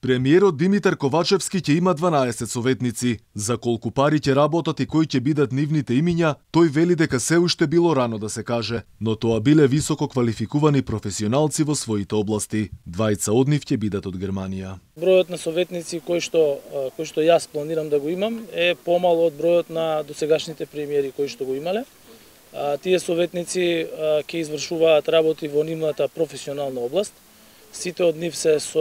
Премиерот Димитар Ковачевски ќе има 12 советници. За колку пари ќе работат и кои ќе бидат нивните имиња, тој вели дека се уште било рано да се каже, но тоа биле високо квалификувани професионалци во своите области. Двајца од нив ќе бидат од Германија. Бројот на советници кој што јас планирам да го имам е помало од бројот на досегашните премиери кои што го имале. Тие советници ќе извршуваат работи во нивната професионална област. Сите од нив се со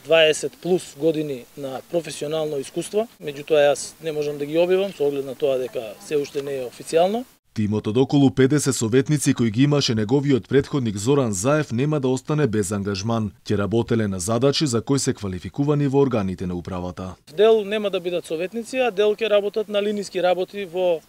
20 плюс години на професионално искуство, меѓутоа јас не можам да ги објавам со оглед на тоа дека се уште не е официјално. Тимот од околу 50 советници кои ги имаше неговиот претходник Зоран Заев нема да остане без ангажман. Ќе работеле на задачи за кои се квалификувани во органите на управата. Дел нема да бидат советници, а дел ќе работат на линиски работи во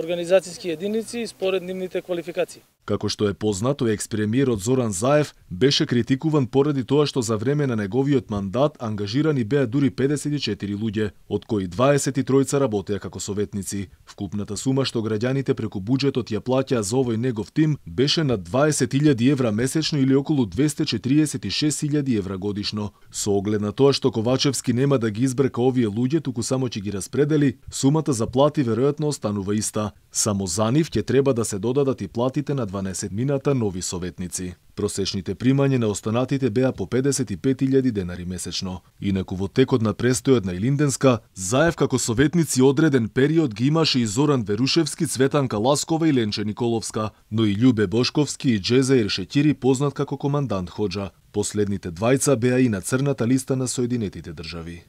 организацијски единици според нивните квалификации. Како што е познато, екс-премиерот Зоран Заев беше критикуван поради тоа што за време на неговиот мандат ангажирани беа дури 54 луѓе, од кои 23 работеа како советници. Вкупната сума што граѓаните преку буџетот ја плаќаа за овој негов тим беше над 20.000 евра месечно или околу 246.000 евра годишно. Со оглед на тоа што Ковачевски нема да ги избрка овие луѓе, туку само ќе ги распредели, сумата за плати веројатно останува иста. Само за нив ќе треба да се додадат и платите на 12 нови советници. Просечните примања на останатите беа по 55.000 денари месечно. Инаку во текот на престојот на Илинденска, Заев како советници одреден период ги имаше и Зоран Верушевски, Цветанка Ласкова и Ленче Николовска, но и Љубе Бошковски и Джезаир Шеќири, познат како командант Хоџа. Последните двајца беа и на црната листа на Соединетите држави.